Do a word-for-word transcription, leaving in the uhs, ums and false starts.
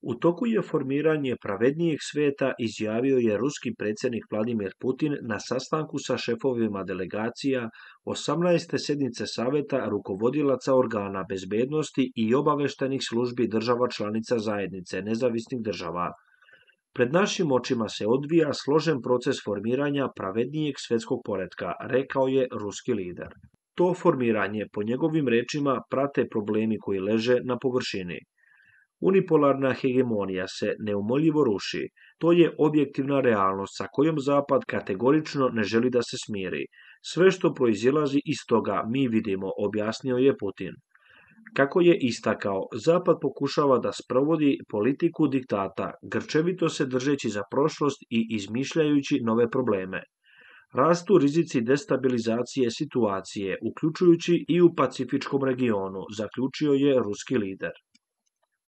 U toku je formiranje pravednijeg sveta, izjavio je ruski predsjednik Vladimir Putin na sastanku sa šefovima delegacija osamnaeste sjednice Saveta rukovodilaca organa bezbednosti i obaveštajnih službi država članica zajednice nezavisnih država. Pred našim očima se odvija složen proces formiranja pravednijeg svjetskog poretka, rekao je ruski lider. To formiranje, po njegovim rečima, prate problemi koji leže na površini. Unipolarna hegemonija se neumoljivo ruši. To je objektivna realnost sa kojom Zapad kategorično ne želi da se smiri. Sve što proizilazi iz toga mi vidimo, objasnio je Putin. Kako je istakao, Zapad pokušava da sprovodi politiku diktata, grčevito se držeći za prošlost i izmišljajući nove probleme. Rastu rizici destabilizacije situacije, uključujući i u pacifičkom regionu, zaključio je ruski lider.